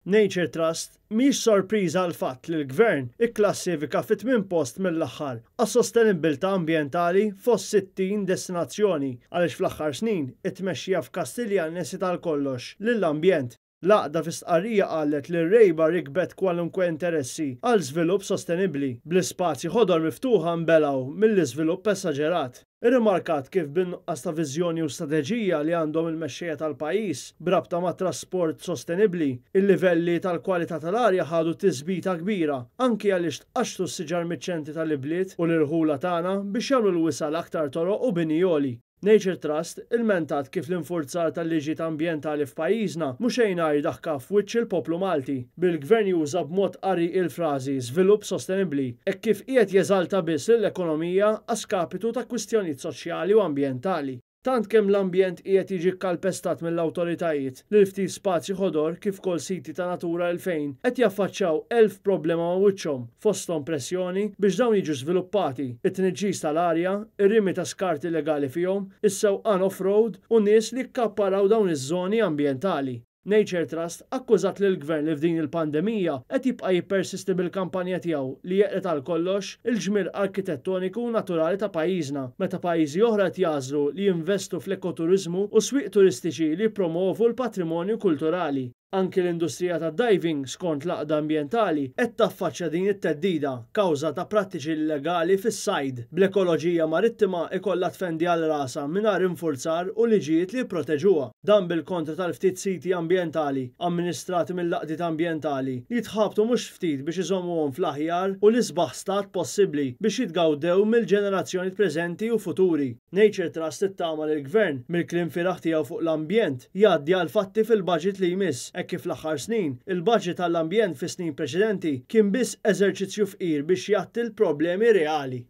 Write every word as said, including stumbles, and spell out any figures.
Nature Trust mhix sorpriża l-fatt li l-Gvern ikklassifika fit-tmien post mill-aħħar għas-sostenibbiltà ambjentali fost sittin destinazzjoni, għaliex fl-aħħar snin it-tmexxija f'Kastilja nesiet għal kollox lill-ambjent. L-għaqda fi stqarrija qalet li r-rejba rikbet kwalunkwe interessi għal żvilupp sostenibbli, bl-ispazji ħodor miftuħa nbelgħu mill-iżvilupp esaġerat. Irrimarkat kif bin-nuqqas ta' viżjoni u strateġija li għandhom il-mexxejja tal-pajjiż b'rabta ma' trasport sostenibbli, il-livelli tal-kwalità tal-arja ħadu tisbita kbira, anki għaliex tqaxxtu s-siġar miċ-ċentri tal-ibliet u l-irħula tagħna biex jagħmlu l-wisa' l-aktar toroq u bini għoli. Nature Trust ilmentat kif l-infurzar tal-liġijiet ambjentali f'pajjiżna mhux xejn għajr daħka f'wiċċ il-poplu Malti, bil-Gvern juża b'mod qarrieqi il-frażi żvilupp sostenibbli, hekk kif qiegħed jeżalta biss lill-ekonomija a skapitu ta' kwistjonijiet soċjali u ambjentali. Tant kemm l-ambjent qiegħed jiġi kkalpestat mill-awtoritajiet li l-ftit spazji ħodor kif ukoll siti ta' Natura elfejn qed jaffaċċjaw elf problema ma' wiċċhom, fosthom pressjoni biex dawn jiġu żviluppati, it-tniġġis tal-arja, ir-rimi ta' skart illegali fihom, is-sewqan off-road u nies li kkapparaw dawn iż-żoni ambjentali. Nature Trust akkużat lill-Gvern li f'din il-pandemija qed jibqa' jippersisti bil-kampanja tiegħu li jeqred għal kollox il-ġmiel arkitettoniku u naturali ta' pajjiżna, meta pajjiżi oħra qed jagħżlu li jinvestu fl-ekoturiżmu u swieq turistiċi li jippromovu l-patrimonju kulturali. Anki l-industrija tad-diving, skont l-għaqda ambjentali, qed taffaċċja din it-theddida kawża ta' prattiċi illegali fis-sajd, bl-ekoloġija marittima ikollha tfendi għal rasha mingħajr infurzar u liġijiet li jipproteġuha. Dan bil-kontra tal-ftit siti ambjentali amministrati mill-għaqdiet ambjentali li jitħabtu mhux ftit biex iżommuhom fl-aħjar u l-isbaħ stat possibbli biex jitgawdew mill-ġenerazzjoni preżenti u futuri. Nature Trust ittama li l-Gvern mill-kliem fieragħ tiegħu fuq l-ambjent jgħaddi għal fatti fil-budget li jmiss, hekk kif fl-aħħar snin il-budget għall-ambjent fi snin preċedenti kien biss eżerċizzju fqir biex jgħatti l-problemi reali.